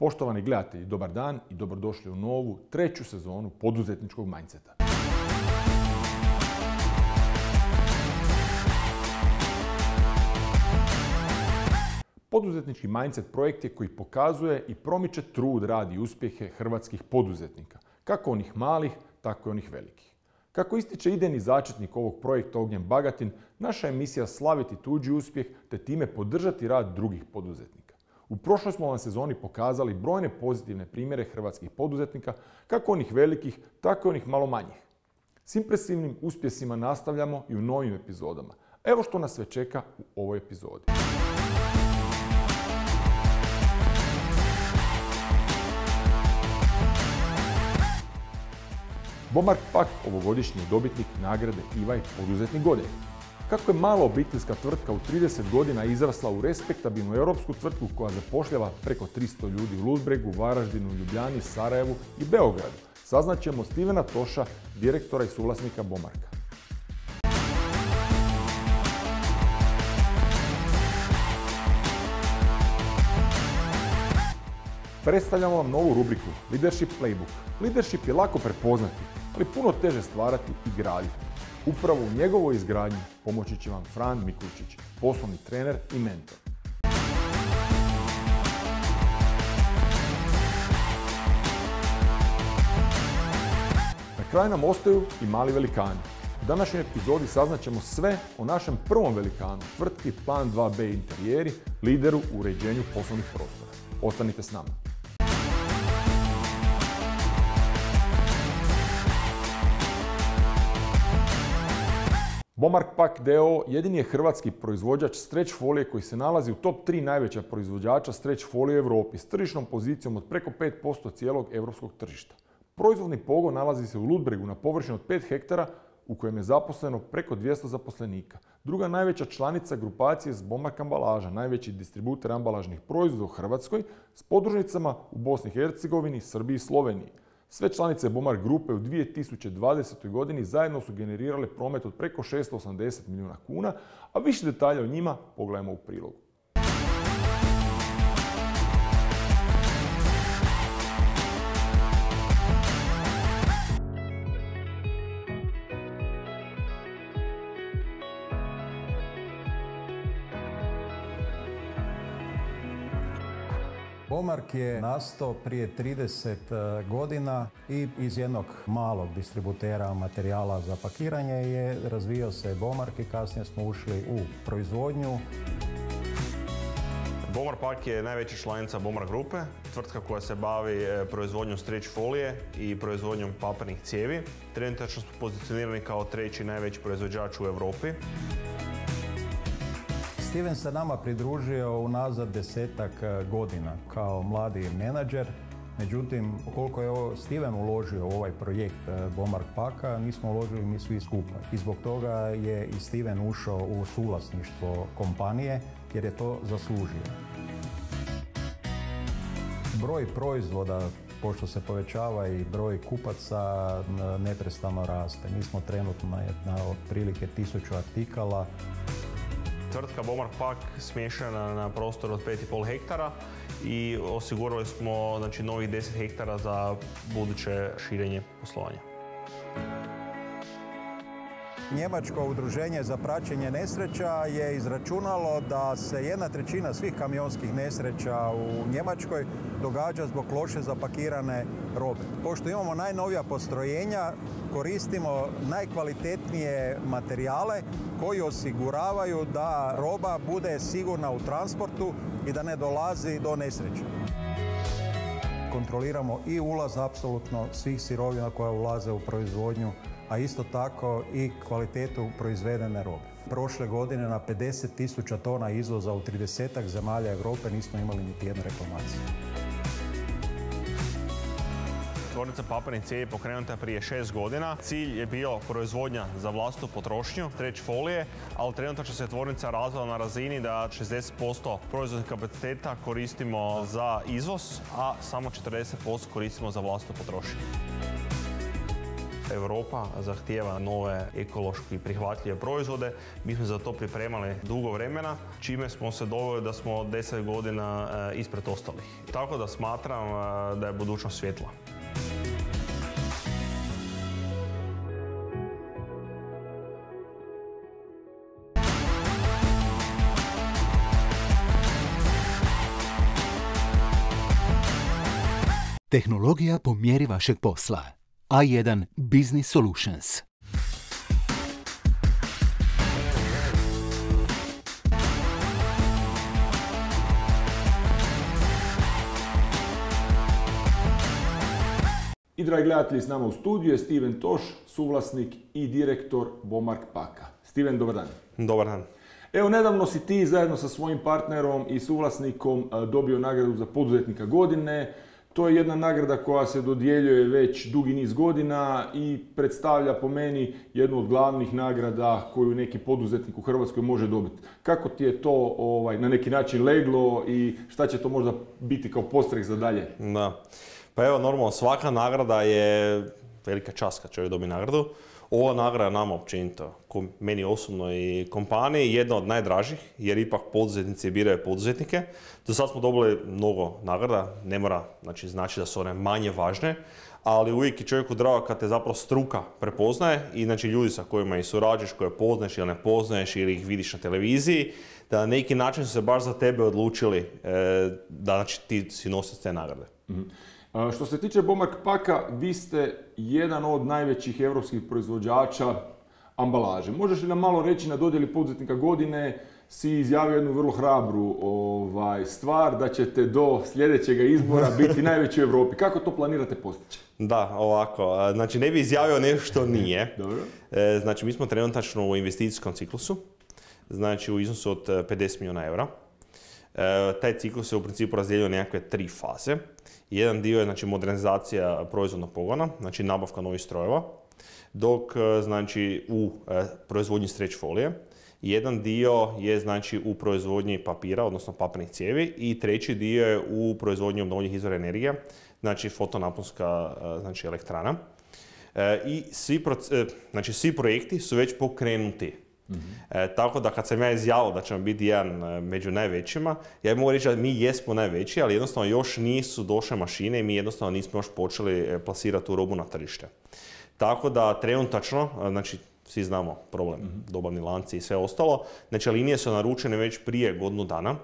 Poštovani gledatelji, dobar dan i dobrodošli u novu, treću sezonu poduzetničkog mindseta. Poduzetnički mindset projekt je koji pokazuje i promiče trud, rad i uspjehe hrvatskih poduzetnika, kako onih malih, tako i onih velikih. Kako ističe idejni začetnik ovog projekta Ognjen Bagatin, naša je misija slaviti tuđi uspjeh te time podržati rad drugih poduzetnika. U prošloj smo vam sezoni pokazali brojne pozitivne primjere hrvatskih poduzetnika, kako onih velikih, tako i onih malo manjih. S impresivnim uspjesima nastavljamo i u novim epizodama. Evo što nas sve čeka u ovoj epizodi. Bomark Pak, ovogodišnji dobitnik nagrade IVA poduzetnik godine. Kako je mala obiteljska tvrtka u 30 godina izrasla u respektabilnu europsku tvrtku koja zapošljava preko 300 ljudi u Ludbregu, Varaždinu, Ljubljani, Sarajevu i Beogradu, saznaćemo Stevena Toša, direktora i suvlasnika Bomarka. Predstavljamo vam novu rubriku Leadership Playbook. Leadership je lako prepoznati, ali puno teže stvarati i graditi. Upravo u njegovoj izgradnji pomoći će vam Fran Mikulčić, poslovni trener i mentor. Na kraju nam ostaju i mali velikani. U današnjoj epizodi saznaćemo sve o našem prvom velikanu, tvrtki Plan 2B Interijeri, lideru u uređenju poslovnih prostora. Ostanite s nama. Bomark Pak d.o.o. jedini je hrvatski proizvođač stretch folije koji se nalazi u top 3 najveća proizvođača stretch folije u Europi s tržišnom pozicijom od preko 5% cijelog europskog tržišta. Proizvodni pogon nalazi se u Ludbregu na površini od 5 hektara u kojem je zaposleno preko 200 zaposlenika. Druga najveća članica grupacije je Bomark ambalaža, najveći distributer ambalažnih proizvoda u Hrvatskoj s podružnicama u Bosni i Hercegovini, Srbiji i Sloveniji. Sve članice Bomark grupe u 2020. godini zajedno su generirale promet od preko 680 milijuna kuna, a više detalja o njima pogledajmo u prilogu. Bomark je nastao prije 30 godina i iz jednog malog distributera materijala za pakiranje je razvijao se Bomark i kasnije smo ušli u proizvodnju. Bomark Pak je najveća članica Bomark grupe, tvrtka koja se bavi proizvodnjom stretch folije i proizvodnjom papirnih cijevi. Trenutačno smo pozicionirani kao treći najveći proizvođač u Europi. Steven se nama pridružio unazad 10-ak godina kao mladi menadžer. Međutim, koliko je Steven uložio u ovaj projekt Bomark Paka, nismo uložili mi svi skupa. I zbog toga je i Steven ušao u suvlasništvo kompanije jer je to zaslužio. Broj proizvoda, pošto se povećava i broj kupaca, neprestano raste. Mi smo trenutno na otprilike 1000 artikala. Tvrtka Bomark Pak smještena na prostoru od 5,5 hektara i osigurali smo novih 10 hektara za buduće širenje poslovanja. Njemačko udruženje za praćenje nesreća je izračunalo da se 1/3 svih kamionskih nesreća u Njemačkoj događa zbog loše zapakirane robe. Pošto imamo najnovija postrojenja, koristimo najkvalitetnije materijale koji osiguravaju da roba bude sigurna u transportu i da ne dolazi do nesreća. Kontroliramo i ulaz apsolutno svih sirovina koje ulaze u proizvodnju, a isto tako i kvalitetu proizvedene robe. Prošle godine na 50.000 tona izvoza u 30-ak zemalja Europe nismo imali niti jednu reklamaciju. Tvornica papirnih cijevi pokrenuta je prije 6 godina. Cilj je bio proizvodnja za vlastitu potrošnju, stretch folije, ali trenutačno se tvornica razvila na razini da 60% proizvodnih kapaciteta koristimo za izvoz, a samo 40% koristimo za vlastitu potrošnju. Europa zahtijeva nove ekološki prihvatljive proizvode. Mi smo za to pripremali dugo vremena, čime smo se doveli da smo 10 godina ispred ostalih. Tako da smatram da je budućnost svjetla. Tehnologija po mjeri vašeg posla. A1 Business Solutions. I dragi gledatelji, s nama u studiju je Steven Toš, suvlasnik i direktor Bomark Paka. Steven, dobar dan. Dobar dan. Evo, nedavno si ti zajedno sa svojim partnerom i suvlasnikom dobio nagradu za poduzetnika godine. To je jedna nagrada koja se dodjeljuje već dugi niz godina i predstavlja po meni jednu od glavnih nagrada koju neki poduzetnik u Hrvatskoj može dobiti. Kako ti je to na neki način leglo i šta će to možda biti kao podstrek za dalje? Da. Pa evo, normalno, svaka nagrada je velika čast kad čovjek dobije nagradu. Ova nagrada nama općenito, meni osobno i kompaniji, jedna od najdražih, jer ipak poduzetnici biraju poduzetnike. Do sad smo dobili mnogo nagrada, ne mora znači da su one manje važne, ali uvijek je čovjeku drago kad te zapravo struka prepoznaje i znači ljudi sa kojima i surađuješ, koje poznaješ ili ne poznaješ ili ih vidiš na televiziji, da na neki način su se baš za tebe odlučili da znači, ti si nosilac te nagrade. Mm-hmm. Što se tiče Bomark Paka, vi ste jedan od najvećih europskih proizvođača ambalaže. Možeš li nam malo reći, na dodjeli poduzetnika godine si izjavio jednu vrlo hrabru stvar da ćete do sljedećeg izbora biti najveći u Europi. Kako to planirate postići? Da, ovako. Znači, ne bi izjavio nešto što nije. Dobro. Znači, mi smo trenutačno u investicijskom ciklusu, znači u iznosu od 50 milijuna eura. Taj ciklus je u principu razdijelio nekakve 3 faze. Jedan dio je znači, modernizacija proizvodnog pogona, znači nabavka novih strojeva, dok znači, u proizvodnji stretch folije. Jedan dio je znači, u proizvodnji papira, odnosno papirnih cijevi, i treći dio je u proizvodnji obnovljivih izvora energije, znači fotonaponska znači, elektrana. I svi projekti su već pokrenuti. Mm-hmm. Tako da kad sam ja izjavio da ćemo biti jedan među najvećima, ja mogu reći da mi jesmo najveći, ali jednostavno još nisu došle mašine i mi jednostavno nismo još počeli plasirati tu robu na tržište. Tako da trenutačno, znači svi znamo problem, dobavni lanci i sve ostalo, znači linije su naručene već prije godinu dana.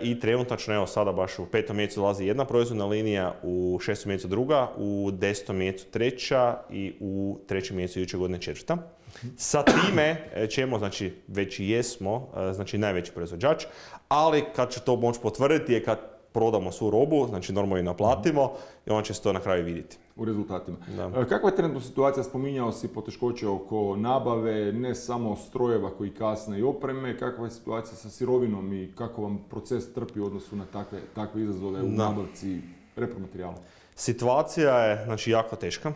I trenutačno, evo sada baš u 5. mjesecu dolazi jedna proizvodna linija, u 6. mjesecu druga, u 10. mjesecu treća i u 3. mjesecu iduće godine četvrta. Sa time ćemo, znači već i jesmo, znači najveći proizvođač, ali kad će to moći potvrditi je kad prodamo svu robu, znači normalno i naplatimo i on će se to na kraju vidjeti. U rezultatima. Da. Kakva je trenutno situacija? Spominjao si poteškoće oko nabave, ne samo strojeva koji kasne i opreme. Kakva je situacija sa sirovinom i kako vam proces trpi u odnosu na takve izazove u nabavci repromaterijala? Situacija je znači, jako teška.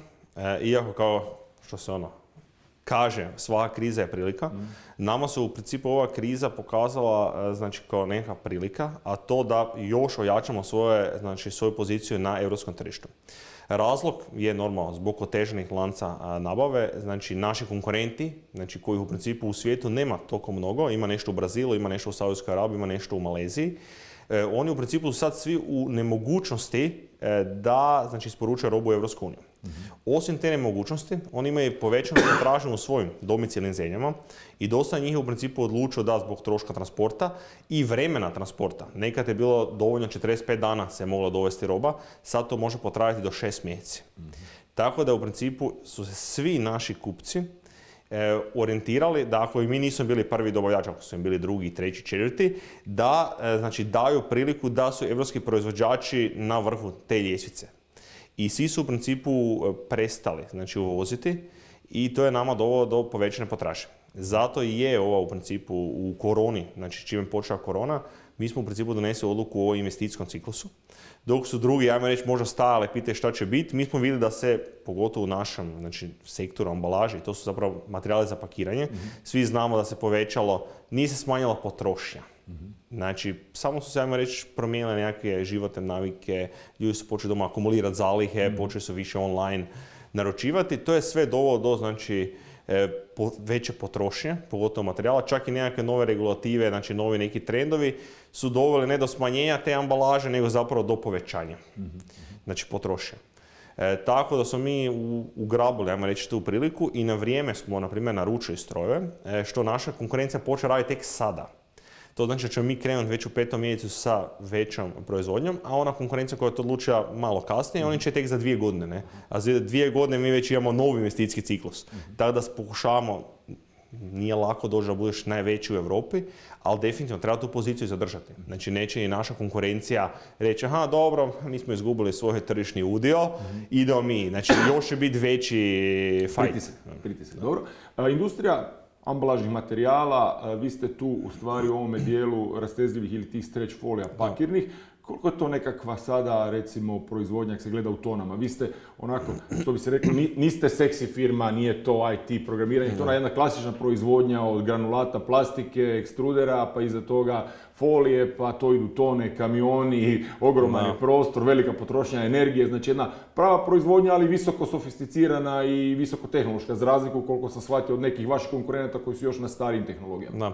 Iako kao što se kaže, svaka kriza je prilika. Nama se u principu ova kriza pokazala znači, kao neka prilika, a to da još ojačamo svoju poziciju na europskom tržištu. Razlog je normalno zbog oteženih lanca nabave, znači naši konkurenti, znači kojih u principu u svijetu nema toliko mnogo, ima nešto u Brazilu, ima nešto u Saudijskoj Arabiji, ima nešto u Maleziji. Oni u principu su sad svi u nemogućnosti da znači, isporučuju robu u Europsku uniju. Osim te nemogućnosti, oni imaju povećanu potražnju u svojim domicilnim zemljama i dosta njih je u principu odlučio da zbog troška transporta i vremena transporta. Nekad je bilo dovoljno 45 dana se mogla dovesti roba, sad to može potrajati do 6 mjeseci. Tako da u principu su se svi naši kupci orijentirali da ako i mi nismo bili prvi dobavljač, ako su im bili drugi, treći, četvrti, da znači, daju priliku da su evropski proizvođači na vrhu te ljestvice. I svi su u principu prestali znači, uvoziti i to je nama dovelo do povećane potražnje. Zato i je ova u principu u koroni, znači čim je počela korona, mi smo u principu donesli odluku o investicijskom ciklusu. Dok su drugi, ajmo reći, možda stajali, pitaju šta će biti, mi smo vidjeli da se, pogotovo u našem znači, sektoru ambalaže, to su zapravo materijali za pakiranje, svi znamo da se povećalo, nije se smanjila potrošnja. Znači, samo su se, ajmo reći, promijenile nekakve životne navike, ljudi su počeli doma akumulirati zalihe, počeli su više online naručivati. To je sve dovelo do znači, veće potrošnje, pogotovo materijala, čak i nekakve nove regulative, znači novi neki trendovi su doveli ne do smanjenja te ambalaže, nego zapravo do povećanja, znači potrošnje. Tako da smo mi ugrabili, ajmo reći, tu priliku i na vrijeme smo, na primjer, naručili strojeve, što naša konkurencija počela raditi tek sada. To znači da ćemo mi krenuti već u 5. mjesecu sa većom proizvodnjom, a ona konkurencija koja je to odlučila malo kasnije, oni će tek za 2 godine. Ne? A za 2 godine mi već imamo novi investicijski ciklus. Tako da pokušavamo, nije lako doći da budeš najveći u Europi, ali definitivno treba tu poziciju zadržati. Znači neće i naša konkurencija reći, aha dobro, mi smo izgubili svoj tržišni udio, idemo mi. Znači još će biti veći fight. Pritisak. Dobro. Industrija ambalažnih materijala, vi ste tu u stvari u ovome dijelu rastezljivih ili tih stretch folija pakirnih. Koliko je to nekakva sada, recimo, proizvodnja, ako se gleda u tonama? Vi ste onako, što bi se reklo, niste seksi firma, nije to IT programiranje, to je jedna klasična proizvodnja od granulata plastike, ekstrudera, pa iza toga folije, pa to idu tone, kamioni, ogroman je prostor, velika potrošnja energije, znači jedna prava proizvodnja, ali visoko sofisticirana i visoko tehnološka, za razliku koliko sam shvatio od nekih vaših konkurenata koji su još na starijim tehnologijama. Da.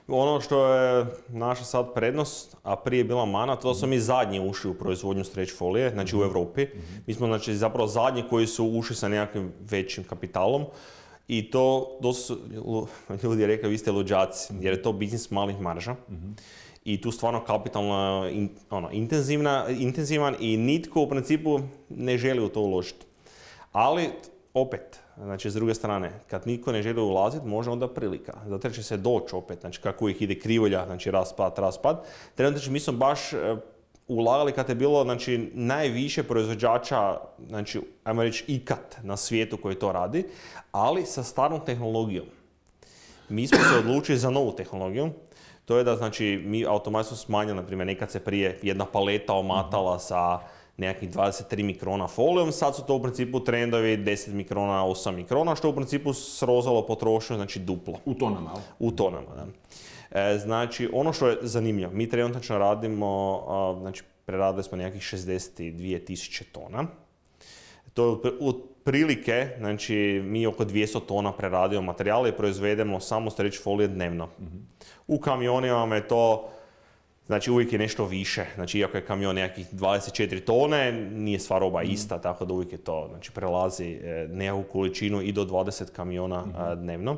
Ono što je naša sad prednost, a prije je bila mana, to da smo mi zadnji ušli u proizvodnju stretch folije, znači u Europi. Mi smo znači, zapravo zadnji koji su ušli sa nekakvim većim kapitalom. I to dosta ljudi je rekao, vi ste luđaci, jer je to biznis malih marža. I tu stvarno kapitalno intenzivan i nitko u principu ne želi u to uložiti. Ali, opet, znači s druge strane, kad niko ne želi ulaziti, može onda prilika. Zato će se doći opet, znači kako ih ide krivolja, znači raspad. Trenutno mi smo baš ulagali kad je bilo znači, najviše proizvođača, znači, ajmo reći ikad na svijetu koji to radi, ali sa starom tehnologijom. Mi smo se odlučili za novu tehnologiju. To je da znači, mi automatski smo smanjili, na primjer, nekad se prije jedna paleta omatala sa nekakvih 23 mikrona folijom, sad su to u principu trendovi 10 mikrona, 8 mikrona, što u principu srozalo potrošnju, znači duplo. U tonama, ali? U tonama, da. Znači, ono što je zanimljivo, mi trenutno radimo, znači, preradili smo nekakvih 62.000 tona. To je otprilike, znači, mi oko 200 tona preradimo materijala i proizvedemo samo stretch folije dnevno. U kamionima je to, znači uvijek je nešto više, znači iako je kamion nekakvih 24 tone, nije sva roba ista, tako da uvijek je to, znači prelazi nekakvu količinu i do 20 kamiona dnevno.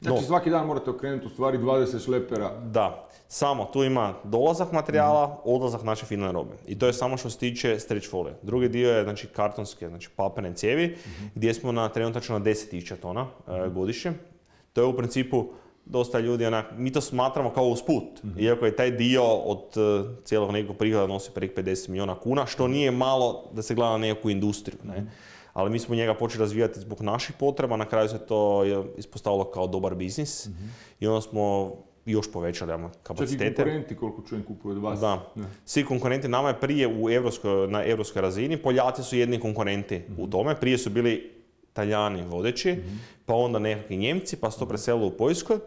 Znači svaki dan morate okrenuti u stvari 20 šlepera. Da, samo tu ima dolazak materijala, odlazak naše finalne robe. I to je samo što se tiče stretch folije. Drugi dio je znači kartonske, znači papirne cijevi, gdje smo trenutačno na 10.000 tona godišnje. To je u principu dosta ljudi, mi to smatramo kao usput, iako je taj dio od cijelog nekog prihoda nosi preko 50 milijuna kuna, što nije malo da se gleda na nekakvu industriju. Ne? Ali mi smo njega počeli razvijati zbog naših potreba, na kraju se to je ispostavilo kao dobar biznis i onda smo još povećali kapacitete. Čak i konkurenti koliko čujem kupuju od vas. Da. Svi konkurenti nama je prije na europskoj razini, Poljaci su jedni konkurenti u tome, prije su bili Talijani vodeći, pa onda nekakvi Njemci, pa su to preselili u Poljskoj.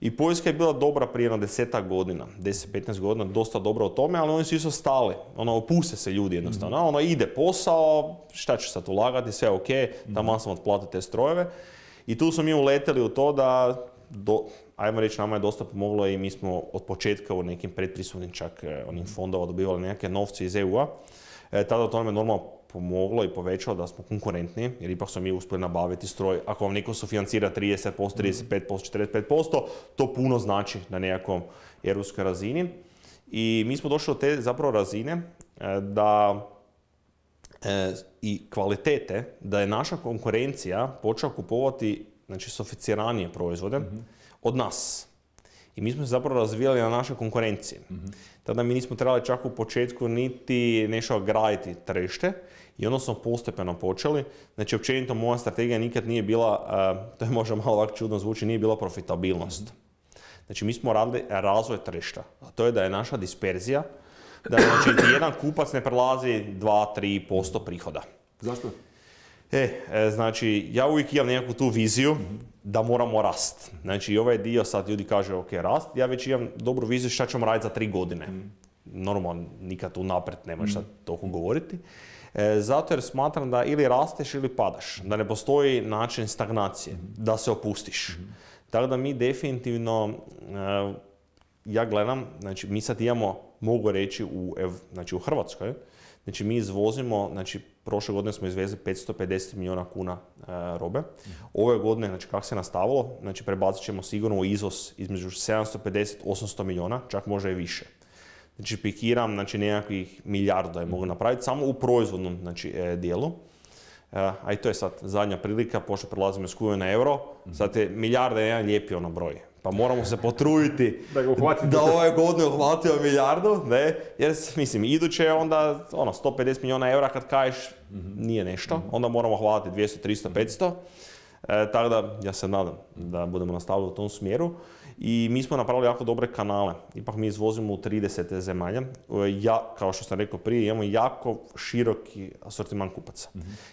I Poljska je bila dobra prije na 10 godina, 10-15 godina, dosta dobra u tome, ali oni su isto stali. Opuste se ljudi jednostavno. Ide posao, šta ću sad ulagati, sve ok, tamo sam otplatiti te strojeve. I tu smo mi uleteli u to da, ajmo reći, nama je dosta pomoglo i mi smo od početka u nekim predpristupnim čak onim fondova dobivali nekakve novce iz EU-a. Tada to nam je normalno pomoglo i povećalo da smo konkurentni, jer ipak smo mi uspjeli nabaviti stroj. Ako vam neko sufinancira 30%, 35%, 45%, to puno znači na nekakvom europskoj razini. I mi smo došli do te zapravo razine da i kvalitete, da je naša konkurencija počela kupovati znači, sofisticiranije proizvode od nas. I mi smo se zapravo razvijali na našoj konkurenciji. Tada mi nismo trebali čak u početku niti nešto graditi tržište i onda smo postepeno počeli. Znači, općenito moja strategija nikad nije bila, to je možda malo ovako čudno zvuči, nije bila profitabilnost. Znači, mi smo radili razvoj tržišta, a to je da je naša disperzija, da znači, jedan kupac ne prelazi 2-3% prihoda. Zašto? Znači, ja uvijek imam nekakvu tu viziju da moramo rast. Znači, ovaj dio sad ljudi kaže, ok, rast, ja već imam dobru viziju šta ćemo raditi za 3 godine. Normalno, nikad unaprijed nema šta toliko govoriti. Zato jer smatram da ili rasteš ili padaš, da ne postoji način stagnacije, da se opustiš. Tako da mi definitivno, ja gledam, znači mi sad imamo, mogu reći, u Hrvatskoj, znači mi izvozimo, znači prošle godine smo izvezli 550 milijuna kuna robe. Ove godine, znači kako se nastavilo, znači prebacit ćemo sigurno u izvoz između 750-800 milijuna, čak možda i više. Znači pikiram, znači nekakvih milijardu da je mogu napraviti samo u proizvodnom, znači, dijelu. A i to je sad zadnja prilika, pošto prelazimo iz kune na euro, sad je milijarda jedan lijepi ono broj. Pa moramo se potruditi da ove godine uhvatimo milijardu, ne? Jer mislim, iduće je onda 150 milijuna eura kad kažeš nije nešto, onda moramo hvatiti 200, 300, 500. Tako da ja se nadam da budemo nastavili u tom smjeru. I mi smo napravili jako dobre kanale. Ipak mi izvozimo u 30 zemalja. Kao što sam rekao prije, imamo jako široki asortiman kupaca.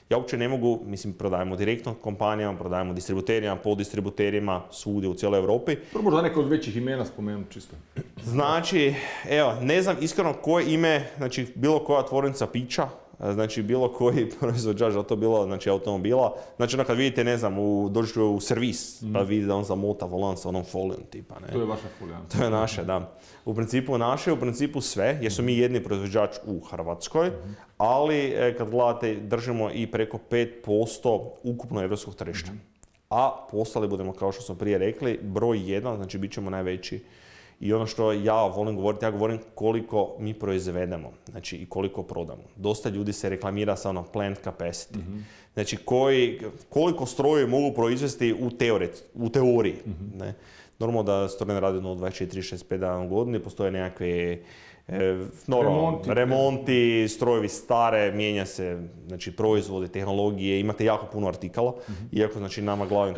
Ja uopće ne mogu, mislim, prodajemo direktno kompanijama, prodajemo distributerima, poddistributerima, svugdje u cijeloj Europi. To možda neko od većih imena spomenuti čisto. Znači, evo, ne znam iskreno koje ime, znači bilo koja tvornica pića, znači bilo koji proizvođač, da to bilo, znači automobila. Znači kad vidite, ne znam, dođete u servis, pa vidite da on zamota volan sa onom folijom tipa, ne. To je vaša folija. To je naše, da. U principu sve, jer smo mi jedni proizvođač u Hrvatskoj, ali kad gledate, držimo i preko 5% ukupno evropskog tržišta. A postali budemo, kao što smo prije rekli, broj 1, znači bit ćemo najveći. I ono što ja volim govoriti, ja govorim koliko mi proizvedemo, znači i koliko prodamo. Dosta ljudi se reklamira sa ono plant capacity. Znači koliko strojevi mogu proizvesti u teoriji. Ne? Normalno da stroj ne radi 24-65 dana u godini, postoje nekakve remonti, strojevi stare, mijenja se, znači proizvodi, tehnologije, imate jako puno artikala, iako znači nama glavni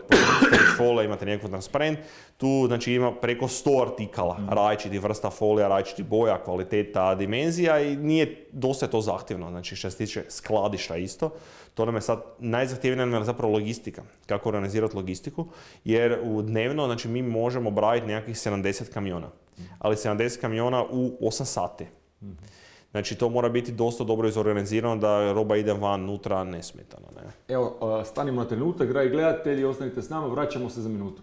folija, imate nekakav transparent, tu znači ima preko 100 artikala, različitih vrsta folija, različitih boja, kvaliteta, dimenzija i nije dosta to zahtjevno, znači što se tiče skladišta isto. To nam je sad najzahtjevnija nam je zapravo logistika, kako organizirati logistiku, jer u dnevno znači mi možemo brajiti nekakvih 70 kamiona, ali 70 kamiona u 8 sati. Znači to mora biti dosta dobro izorganizirano da roba ide van, unutra nesmetano. Ne? Evo, stanimo na trenutak, dragi gledatelji, ostanite s nama, vraćamo se za minutu.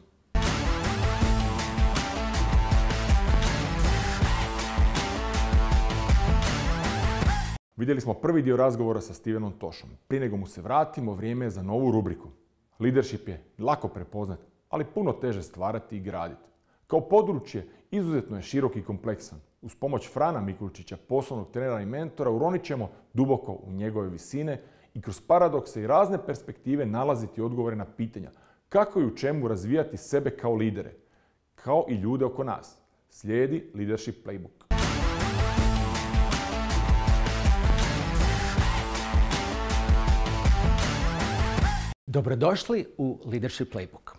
Vidjeli smo prvi dio razgovora sa Stevenom Toshom. Prije nego mu se vratimo, vrijeme je za novu rubriku. Leadership je lako prepoznat, ali puno teže stvarati i graditi. Kao područje izuzetno je širok i kompleksan. Uz pomoć Frana Mikulčića, poslovnog trenera i mentora, uronit ćemo duboko u njegove visine i kroz paradokse i razne perspektive nalaziti odgovore na pitanja kako i u čemu razvijati sebe kao lidere, kao i ljude oko nas. Slijedi Leadership Playbook. Dobrodošli u Leadership Playbook.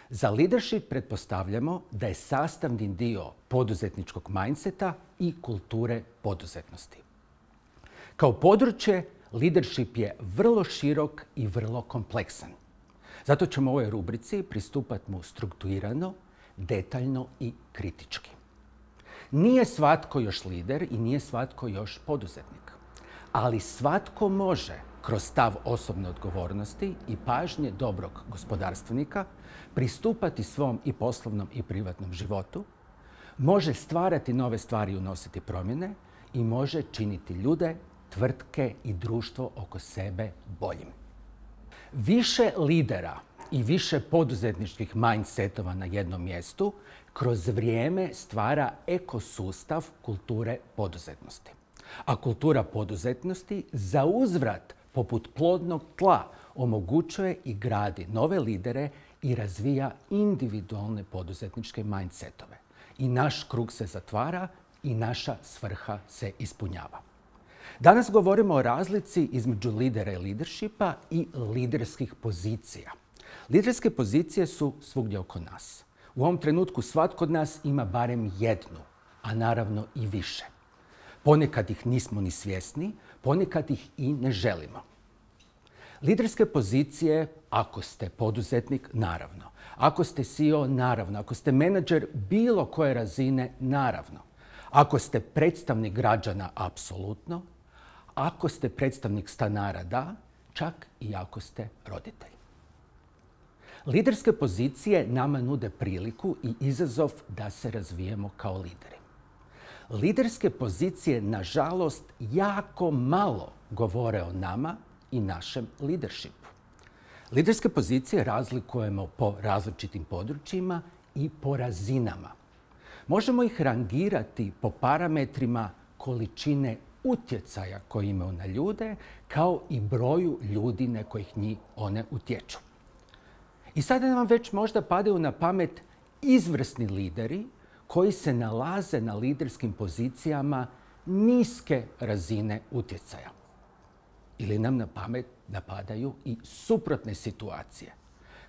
Za leadership pretpostavljamo da je sastavni dio poduzetničkog mindseta i kulture poduzetnosti. Kao područje, leadership je vrlo širok i vrlo kompleksan. Zato ćemo u ovoj rubrici pristupati mu strukturirano, detaljno i kritički. Nije svatko još lider i nije svatko još poduzetnik, ali svatko može kroz stav osobne odgovornosti i pažnje dobrog gospodarstvenika pristupati svom i poslovnom i privatnom životu, može stvarati nove stvari i unositi promjene i može činiti ljude, tvrtke i društvo oko sebe boljim. Više lidera i više poduzetničkih mindsetova na jednom mjestu kroz vrijeme stvara ekosustav kulture poduzetnosti. A kultura poduzetnosti za uzvrat poput plodnog tla omogućuje i gradi nove lidere i razvija individualne poduzetničke mindsetove. I naš krug se zatvara i naša svrha se ispunjava. Danas govorimo o razlici između lidera i leadershipa i liderskih pozicija. Liderske pozicije su svugdje oko nas. U ovom trenutku svatko od nas ima barem jednu, a naravno i više. Ponekad ih nismo ni svjesni, ponekad ih i ne želimo. Liderske pozicije, ako ste poduzetnik, naravno. Ako ste CEO, naravno. Ako ste menadžer bilo koje razine, naravno. Ako ste predstavnik građana, apsolutno. ako ste predstavnik stanara, da, čak i ako ste roditelj. Liderske pozicije nama nude priliku i izazov da se razvijemo kao lideri. Liderske pozicije, nažalost, jako malo govore o nama i našem leadershipu. Liderske pozicije razlikujemo po različitim područjima i po razinama. Možemo ih rangirati po parametrima količine utjecaja koji imaju na ljude, kao i broju ljudi na kojih one utječu. I sada nam već možda padaju na pamet izvrsni lideri koji se nalaze na liderskim pozicijama niske razine utjecaja. Ili nam na pamet napadaju i suprotne situacije,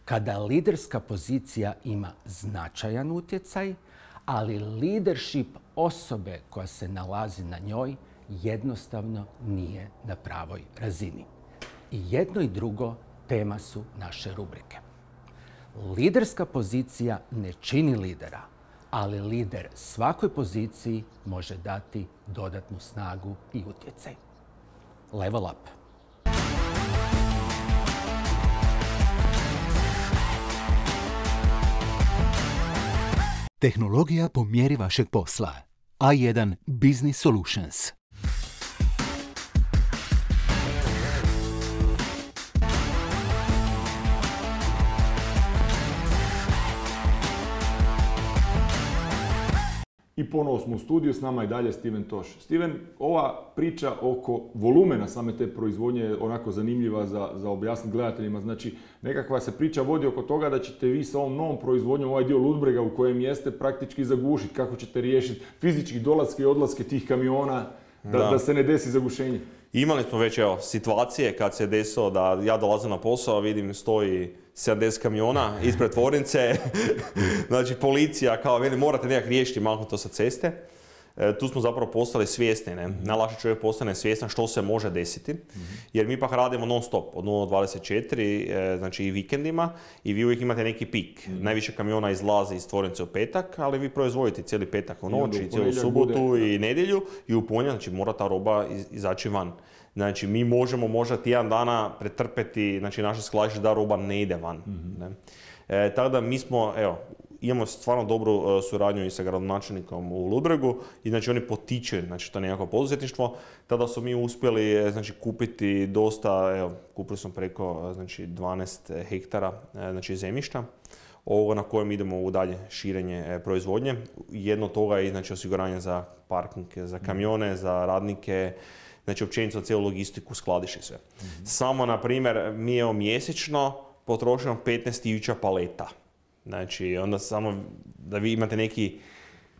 kada liderska pozicija ima značajan utjecaj, ali leadership osobe koja se nalazi na njoj jednostavno nije na pravoj razini. I jedno i drugo tema su naše rubrike. Liderska pozicija ne čini lidera, ali lider svakoj poziciji može dati dodatnu snagu i utjecaj. Level up. Tehnologija po mjeri vašeg posla. A1 Business Solutions. I ponovo smo u studiju, s nama i dalje Steven Toš. Steven, ova priča oko volumena same te proizvodnje je onako zanimljiva za objasniti gledateljima. Znači, nekakva se priča vodi oko toga da ćete vi sa ovom novom proizvodnjom, ovaj dio Ludbrega u kojem jeste, praktički zagušiti. Kako ćete riješiti fizički dolaske i odlaske tih kamiona da se ne desi zagušenje? Imali smo već situacije kad se desilo da ja dolazim na posao, vidim stoji 70 kamiona ispred tvornice. Znači policija kao veli morate nekak riješiti, maknuti to sa ceste. Tu smo zapravo postali svjesni, ne? Najlakše čovjek postane svjestan što se može desiti. Jer mi pak radimo non stop od 0-24, znači i vikendima, i vi uvijek imate neki pik. Najviše kamiona izlazi iz tvornice u petak, ali vi proizvodite cijeli petak u noći, cijelu subotu i nedjelju, i u ponedjeljak, znači mora ta roba izaći van. Znači, mi možemo možda tjedan dana pretrpeti, znači naše skladište da roba ne ide van. Tako da mi smo, imamo stvarno dobru suradnju i sa gradonačelnikom u Ludbregu i znači oni potiču, znači to nekako poduzetništvo. Tada su mi uspjeli znači kupiti dosta, kupili smo preko znači 12 hektara znači zemljišta na kojem idemo u dalje širenje proizvodnje. Jedno od toga je znači osiguranje za parking, za kamione, za radnike, znači općenito za cijelu logistiku, skladište i sve. Samo, na primjer, mi mjesečno potrošimo 15.000 paleta. Znači, onda samo da vi imate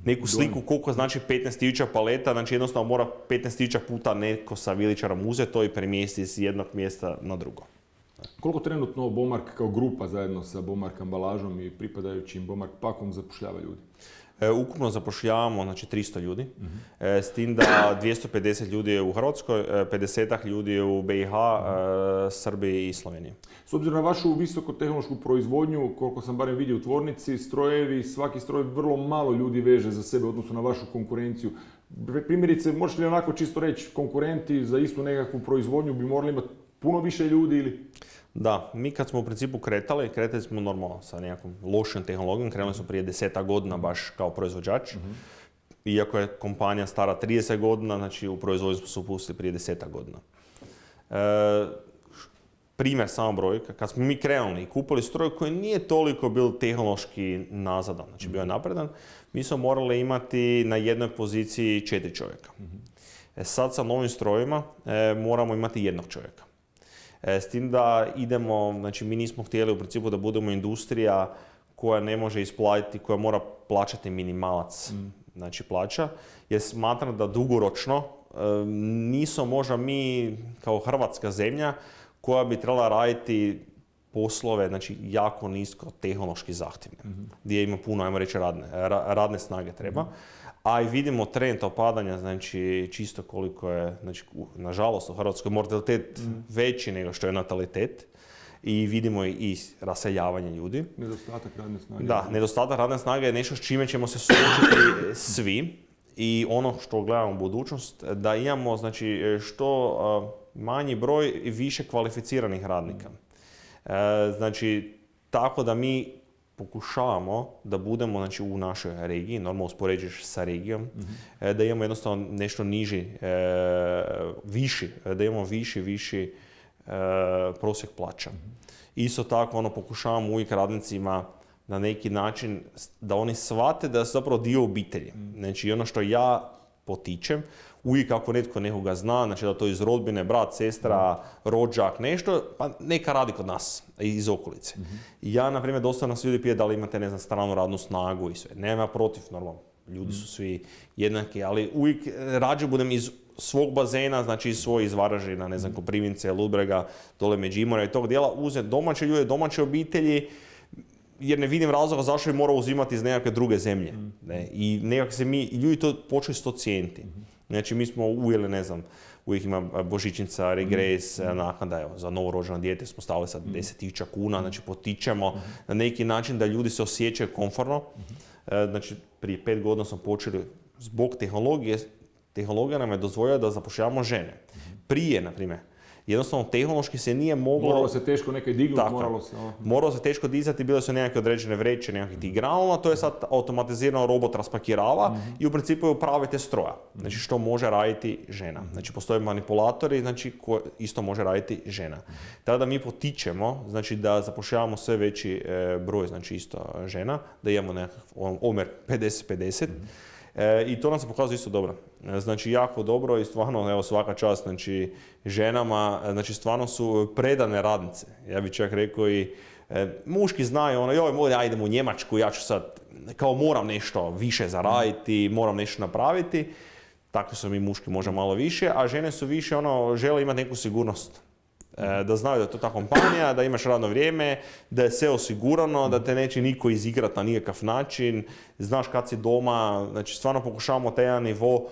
neku sliku koliko znači 15.000 paleta, znači jednostavno mora 15.000 puta neko sa viličarom uzeti to i premjestiti s jednog mjesta na drugo. Koliko trenutno Bomark kao grupa zajedno sa Bomark ambalažom i pripadajućim Bomark pakom zapošljava ljudi? Ukupno zapošljavamo znači 300 ljudi, s tim da 250 ljudi je u Hrvatskoj, 50 ljudi je u BiH, Srbiji i Sloveniji. S obzirom na vašu visokotehnološku proizvodnju, koliko sam barem vidio u tvornici, strojevi, svaki stroj vrlo malo ljudi veže za sebe odnosno na vašu konkurenciju. Primjerice, možeš li onako čisto reći, konkurenti za istu nekakvu proizvodnju bi morali imati puno više ljudi ili? Da, mi kad smo u principu kretali smo normalno sa nekakvom lošom tehnologijom, krenuli smo prije 10 godina baš kao proizvođač. Iako je kompanija stara 30 godina, znači u proizvodnju smo se upustili prije 10 godina. Primjer, samo brojka, kad smo mi krenuli i kupili stroj koji nije toliko bil tehnološki nazadan, znači bio je napredan, mi smo morali imati na jednoj poziciji 4 čovjeka. Sad sa novim strojima moramo imati jednog čovjeka. S tim da idemo, znači mi nismo htjeli u principu da budemo industrija koja ne može isplatiti, koja mora plaćati minimalac, znači plaća, jer smatram da dugoročno nismo možda mi kao hrvatska zemlja koja bi trebala raditi poslove, znači jako nisko tehnološki zahtjevne, gdje ima puno, ajmo reći, radne snage treba. A i vidimo trend opadanja, znači čisto koliko je, znači, nažalost u Hrvatskoj mortalitet veći nego što je natalitet. I vidimo i raseljavanje ljudi. Nedostatak radne snage. Da, nedostatak radne snage je nešto s čime ćemo se suočiti svi. i ono što gledamo u budućnost, da imamo znači, što manji broj više kvalificiranih radnika. Znači, tako da mi pokušavamo da budemo znači, u našoj regiji, normalno uspoređuješ sa regijom, da imamo jednostavno nešto niži, viši, da imamo viši prosjek plaća. Isto tako pokušavamo uvijek radnicima na neki način da oni shvate da su zapravo dio obitelji. Znači ono što ja potičem, uvijek ako netko nekoga zna, znači da to iz rodbine, brat, sestra, rođak, nešto, pa neka radi kod nas, iz okolice. Ja, na primjer, dosta nas ljudi pije da li imate, ne znam, stranu radnu snagu i sve. Nema protiv, normalno, ljudi su svi jednaki, ali uvijek rađe budem iz svog bazena, znači iz Varaždina, ne znam, Koprivnice, Ludbrega, dole Međimurja i tog dijela, uzeti domaće ljude, domaće obitelji, jer ne vidim razloga zašto bi morao uzimati iz nekakve druge zemlje. Ne? I nekako se ljudi to počeli to cijeniti. Znači mi smo uvijeli, ne znam, uvijek ima božićnica, regres, naknada, evo, za novorođeno dijete smo stavili sad 10.000 kuna, znači potičemo na neki način da ljudi se osjećaju komfortno. Znači prije 5 godina smo počeli zbog tehnologije, tehnologija nam je dozvoljila da zapošljavamo žene. Prije, na primjer, jednostavno tehnološki se nije moglo... Moralo se teško nekaj dignuti, moralo se teško dizati, bile su nekakve određene vreće, nekakvih tih granula, to je sad automatizirano, robot raspakirava i u principu je upravite stroja. Znači što može raditi žena. Znači postoje manipulatori, znači ko isto može raditi žena. Tada mi potičemo, znači da zapošljavamo sve veći broj, znači isto žena, da imamo nekakav omjer 50-50. I to nam se pokazuje isto dobro. Znači jako dobro i stvarno, evo svaka čast, znači ženama, znači stvarno su predane radnice. Ja bih čak rekao i muški znaju joj, ja idem u Njemačku, ja ću sad, kao moram nešto više zaraditi, moram nešto napraviti. Tako su mi muški možda malo više, a žene su više žele imati neku sigurnost. Da znaju da je to ta kompanija, da imaš radno vrijeme, da je sve osigurano, da te neće niko izigrati na nikakav način, znaš kad si doma, znači stvarno pokušavamo taj jedan nivo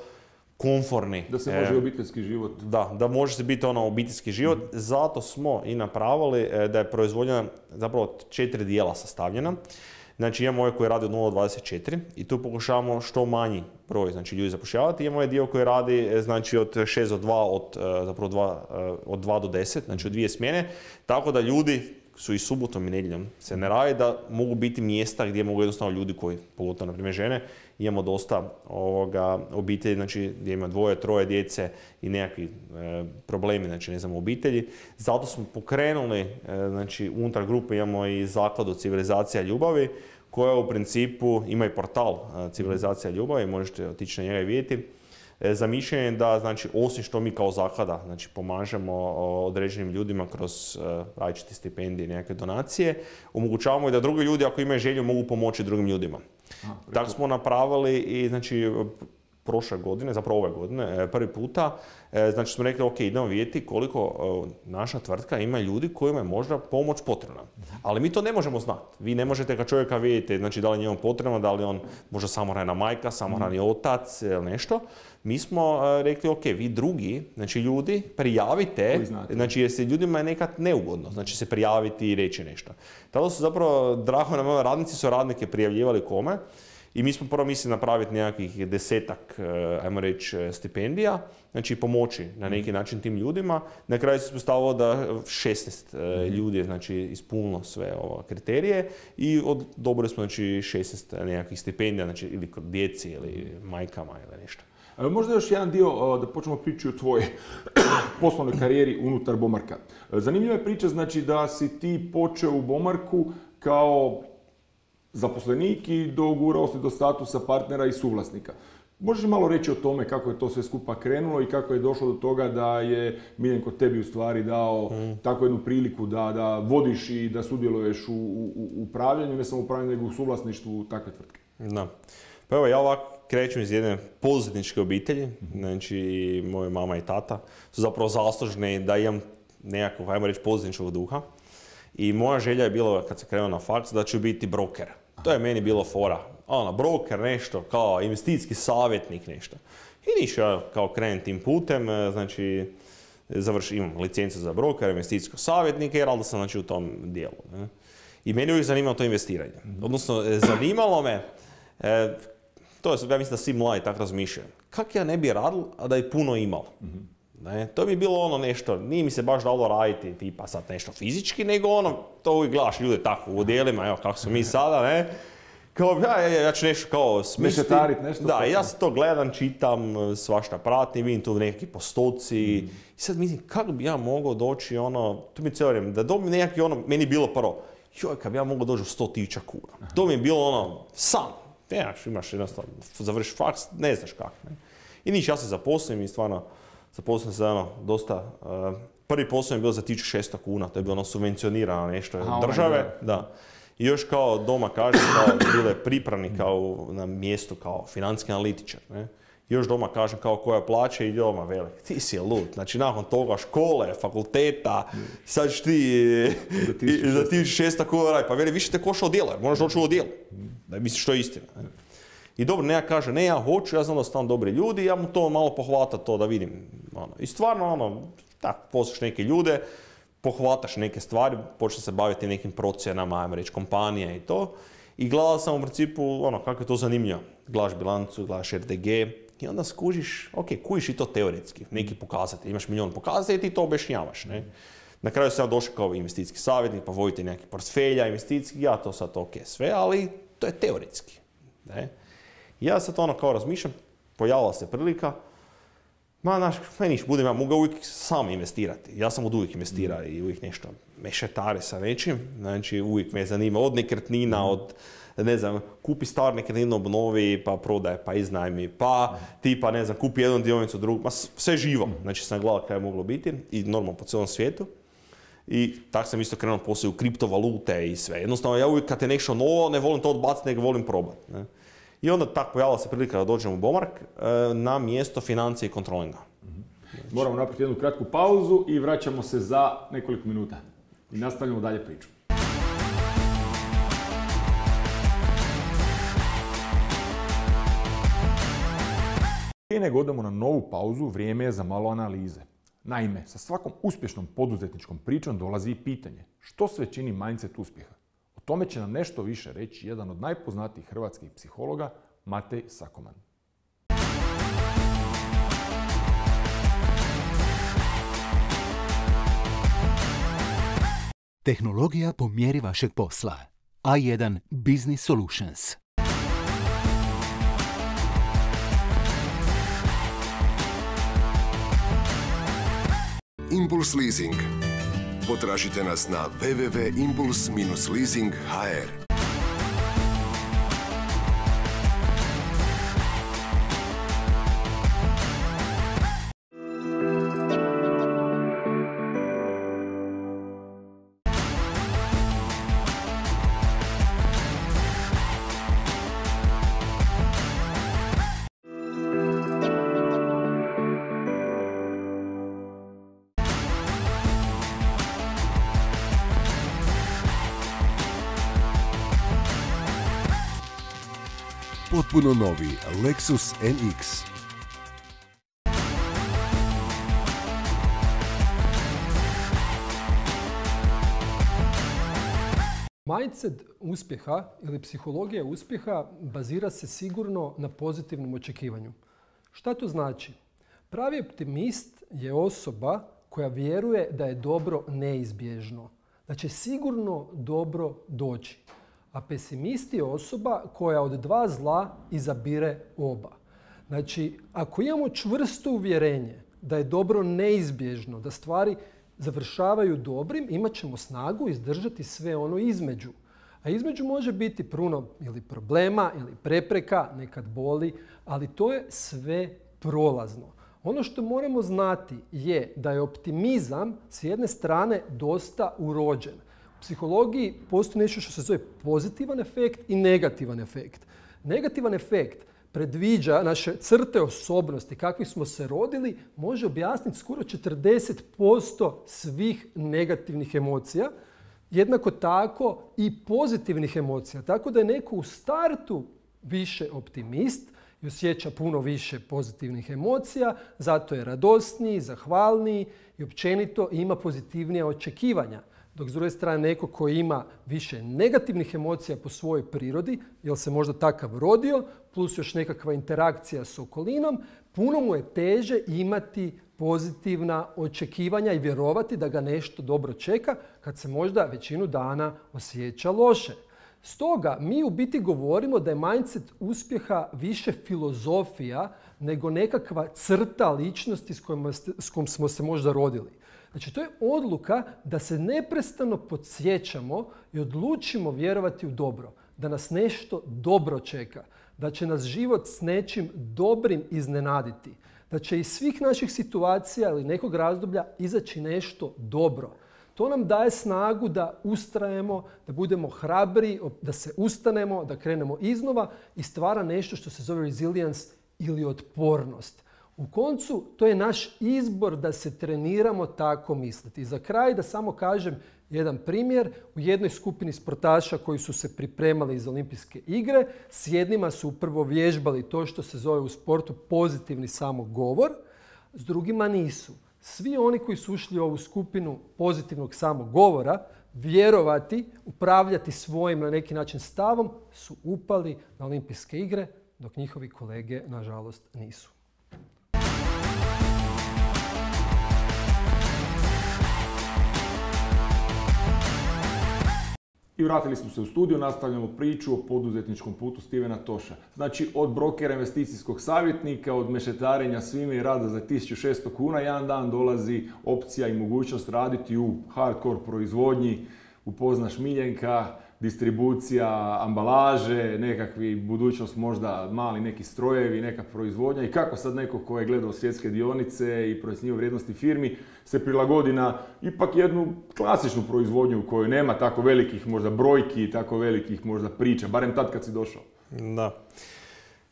komforni. Da se može obiteljski život. Da može se biti obiteljski život, zato smo i napravili da je proizvodnja zapravo 4 dijela sastavljena. Znači imamo ovaj koji radi od 0-24 i tu pokušavamo što manji broj znači, ljudi zapošljavati. Imamo ovaj dio koji radi znači, od 6 do 2, od 2 do 10, znači od 2 smjene. Tako da ljudi su i subotom i nedjeljom se ne radi, da mogu biti mjesta gdje mogu jednostavno ljudi koji, pogotovo na primjer žene, imamo dosta obitelji, znači gdje ima 2-3 djece i nekakvi problemi, znači ne znam, u obitelji. Zato smo pokrenuli, znači unutar grupe imamo i zakladu Civilizacija ljubavi, koja u principu ima i portal Civilizacija ljubavi, možete otići na njega i vidjeti. Zamišljen da, znači, osim što mi kao zaklada znači, pomažemo određenim ljudima kroz različite stipendije i nekakve donacije, omogućavamo i da drugi ljudi, ako imaju želju, mogu pomoći drugim ljudima. Tako smo napravili i znači, prošle godine, zapravo ove godine, prvi puta, znači smo rekli, ok, idemo vidjeti koliko naša tvrtka ima ljudi kojima je možda pomoć potrebna. Ali mi to ne možemo znati. Vi ne možete kad čovjeka vidite, znači da li je njemu potrebno, da li on možda samohrana majka, samohrani otac ili nešto. Mi smo rekli, ok, vi drugi, znači ljudi, prijavite, znači jer se ljudima je nekad neugodno, znači se prijaviti i reći nešto. Tada su zapravo, drago nam, radnici su radnike prijavljivali kome. I mi smo prvo mislili napraviti nekakvih 10-ak, ajmo reći, stipendija, znači pomoći na neki način tim ljudima. Na kraju se postavilo da 16 ljudi je znači, ispunilo sve kriterije i odobrili smo znači, 16 nekakvih stipendija, znači ili djeci ili majkama ili nešto. Možda još jedan dio da počnemo pričati o tvojoj poslovnoj karijeri unutar Bomarka. Zanimljiva je priča znači da si ti počeo u Bomarku kao zaposlenik i dogurao si do statusa partnera i suvlasnika. Možeš malo reći o tome kako je to sve skupa krenulo i kako je došlo do toga da je Miljenko tebi u stvari dao takvu jednu priliku da vodiš i da sudjeluješ u upravljanju, ne samo upravljanju, nego u suvlasništvu takve tvrtke? Da. Pa evo, ja ovako krećem iz jedne poduzetničke obitelji, znači moja mama i tata su zapravo zaslužni da imam nekakvog, ajmo reći, poduzetničkog duha. I moja želja je bila, kad se krenuo na faks, da ću biti broker. To je meni bilo fora. Broker nešto, kao investicijski savjetnik nešto. I ništa, kao krenem tim putem, znači imam licencu za broker, investicijskog savjetnika, jer onda sam znači, u tom dijelu. Ne? I meni uvijek zanimalo to investiranje. Odnosno, zanimalo me, to je, ja mislim da svi mladi tako razmišljaju. Kak ja ne bi radil, a da je puno imao? Ne? To bi bilo ono nešto, nije mi se baš dalo raditi tipa sad nešto fizički, nego ono, to uvijek gledaš ljude tako u odjelima, evo kako smo mi sada, ne? Kao, ja ću nešto kao smisliti. Nešto. Da, ja se to gledam, čitam, svašta pratim, vidim tu neki postoci. I sad mislim, kako bi ja mogao doći ono, to mi je cijelo vrijeme, da dobijem neki ono, meni je bilo prvo, joj, kad bi ja mogao doći u 100.000 kuna. To mi je bilo ono, san. Imaš jednostavno, završiš faks, ne znaš kako. Ne? I niš, ja se zaposlim i stvarno, zaposlim se ono, dosta, prvi posao je bio za 1.600 kuna, to je bilo ono subvencionirano nešto od države. Da. I još kao doma kažem, kao bilo je pripravnik kao na mjestu kao financijski analitičar. Ne? I još doma kažem kao koja plaća i doma velik. Ti si lud. Znači nakon toga škole, fakulteta, sad ćeš ti za 1.600 kuna raditi. Pa veli, više te koša odjela, jer moraš doći u odjelu. Da misliš što je istina. Ne? I dobro, ne ja kažem, ne ja hoću, ja znam da su tamo dobri ljudi, ja mu to malo pohvatam to da vidim. Ono. I stvarno, ono, tako, posluš neke ljude, pohvataš neke stvari, počne se baviti nekim procjenama, ajmo reći, kompanije i to. I gledao sam u principu, ono, kako je to zanimljivo. Gledaš bilancu, gledaš RDG i onda skužiš, ok, kužiš i to teoretski, neki pokazatelj. Imaš milion pokazatelja i ti to objašnjavaš, ne. Na kraju sam ja došao kao investicijski savjetnik, pa vodite neki portfelja investicijski, ja to sad ok sve, ali to je teoretski, ne. Ja sad ono kao razmišljam, pojavila se prilika, budem ja mogao uvijek sam investirati. Ja sam od uvijek investirao i uvijek nešto mešetare sa nečim. Znači uvijek me zanima od nekretnina, od ne znam, kupi star nekretninu, obnovi, pa prodaje, pa iznajmi, pa tipa ne znam, kupi jednu dionicu, drugu, sve živo. Znači sam gledao kaj je moglo biti i normalno po cijelom svijetu. I tako sam isto krenuo poslije u kriptovalute i sve. Jednostavno ja uvijek kad je nešto novo, ne volim to odbaciti, nego volim probati. Ne? I onda tako pojavila se prilika da dođem u Bomark na mjesto financije i kontrolinga. Moramo napraviti jednu kratku pauzu i vraćamo se za nekoliko minuta. I nastavljamo dalje priču. Prije nego odemo na novu pauzu, vrijeme je za malo analize. Naime, sa svakom uspješnom poduzetničkom pričom dolazi i pitanje što sve čini mindset uspjeha. O tome će nam nešto više reći jedan od najpoznatijih hrvatskih psihologa, Matej Sakoman. Tehnologija po mjeri vašeg posla. A1 Business Solutions. Impuls Leasing. Potražite nas na www.impuls-leasing.hr. Potpuno novi Lexus NX. Mindset uspjeha ili psihologija uspjeha bazira se sigurno na pozitivnom očekivanju. Šta to znači? Pravi optimist je osoba koja vjeruje da je dobro neizbježno, da će sigurno dobro doći. A pesimist je osoba koja od dva zla izabire oba. Znači, ako imamo čvrsto uvjerenje da je dobro neizbježno, da stvari završavaju dobrim, imat ćemo snagu izdržati sve ono između. A između može biti puno ili problema ili prepreka, nekad boli, ali to je sve prolazno. Ono što moramo znati je da je optimizam s jedne strane dosta urođen. U psihologiji postoji nešto što se zove pozitivan efekt i negativan efekt. Negativan efekt predviđa naše crte osobnosti, kakvi smo se rodili, može objasniti skoro 40% svih negativnih emocija. Jednako tako i pozitivnih emocija. Tako da je neko u startu više optimist i osjeća puno više pozitivnih emocija, zato je radosniji, zahvalniji i općenito ima pozitivnija očekivanja. Dok s druge strane neko koji ima više negativnih emocija po svojoj prirodi, jer se možda takav rodio, plus još nekakva interakcija s okolinom, puno mu je teže imati pozitivna očekivanja i vjerovati da ga nešto dobro čeka kad se možda većinu dana osjeća loše. Stoga mi u biti govorimo da je mindset uspjeha više filozofija nego nekakva crta ličnosti s kojom smo se možda rodili. Znači, to je odluka da se neprestano podsjećamo i odlučimo vjerovati u dobro, da nas nešto dobro čeka, da će nas život s nečim dobrim iznenaditi, da će iz svih naših situacija ili nekog razdoblja izaći nešto dobro. To nam daje snagu da ustrajemo, da budemo hrabri, da se ustanemo, da krenemo iznova i stvara nešto što se zove resilience ili otpornost. U koncu, to je naš izbor da se treniramo tako misliti. I za kraj da samo kažem jedan primjer. U jednoj skupini sportaša koji su se pripremali za olimpijske igre, s jednima su prvo vježbali to što se zove u sportu pozitivni samogovor, s drugima nisu. Svi oni koji su ušli u ovu skupinu pozitivnog samogovora, vjerovati, upravljati svojim na neki način stavom, su upali na olimpijske igre, dok njihovi kolege, nažalost, nisu. I vratili smo se u studio, nastavljamo priču o poduzetničkom putu Stevena Tosha. Znači, od brokera investicijskog savjetnika, od mešetarenja svime i rada za 1600 kuna, jedan dan dolazi opcija i mogućnost raditi u hardcore proizvodnji, upoznaš Miljenka, distribucija, ambalaže, nekakvi budućnost možda mali neki strojevi, neka proizvodnja i kako sad neko ko je gledao svjetske dionice i procjenjivao vrijednosti firmi se prilagodi na ipak jednu klasičnu proizvodnju u kojoj nema tako velikih možda brojki, tako velikih možda priča, barem tad kad si došao. Da.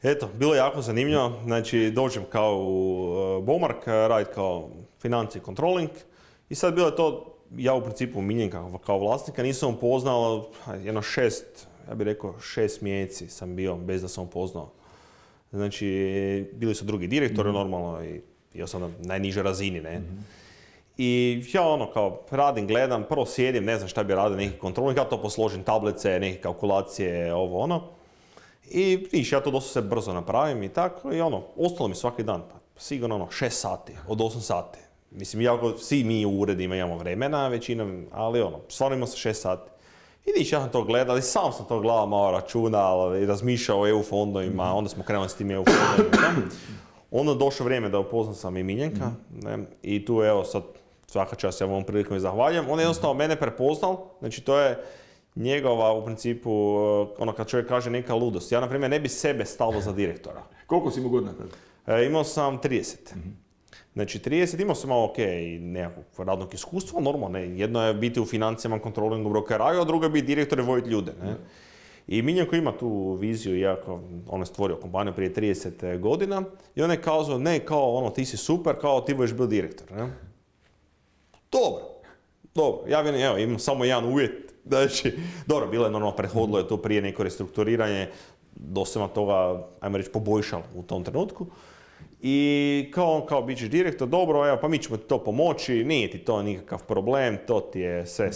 Eto, bilo je jako zanimljivo. Znači, dođem kao u Bomark, radit kao financije controlling i sad bilo je to. Ja u principu Miljenka kao vlasnika nisam upoznao jedno 6 mjeseci sam bio bez da sam upoznao. Znači, bili su drugi direktori normalno i ja sam na najnižoj razini, ne. I ja kao radim, gledam, prvo sjedim, ne znam šta bi radio, neki kontrolnik, ja to posložim, tablice, neke kalkulacije, ovo ono. I viš, ja to dosta se brzo napravim i tako i ostalo mi svaki dan, pa sigurno 6 sati, od 8 sati. Mislim, svi mi u uredima imamo vremena, većina, ali stvarno imamo se 6 sati. I niš, ja sam to gledao, sam sam to gledao malo računao i razmišljao o EU fondovima, onda smo krenuli s tim EU fondovima. Onda došlo vrijeme da upoznam sam i Miljenka, ne, i tu evo sad svaka čast ja ovom prilikom i zahvaljujem. On je jednostavno mene prepoznal, znači to je njegova u principu, kad čovjek kaže neka ludost. Ja na primjer ne bi sebe stavio za direktora. Koliko si imao godina tada? Imao sam 30. Znači 30, imao sam malo i nekakvog radnog iskustva, normalno, ne. Jedno je biti u financijama, kontrolingu, brokeraju, a drugo je biti direktor i voditi ljude. Ne. I Miljenko ima tu viziju, iako on je stvorio kompaniju prije 30 godina i on je kazao, ne, kao ti si super, kao ti budeš bio direktor. Ne. Dobro, ja imam samo jedan uvjet. Znači, dobro, bilo je normalno, prethodilo je to prije neko restrukturiranje, dosta sam toga, ajmo reći, poboljšalo u tom trenutku. I kao bit ćeš direktor, dobro, evo, pa mi ćemo ti to pomoći, nije ti to nikakav problem, to ti je sve,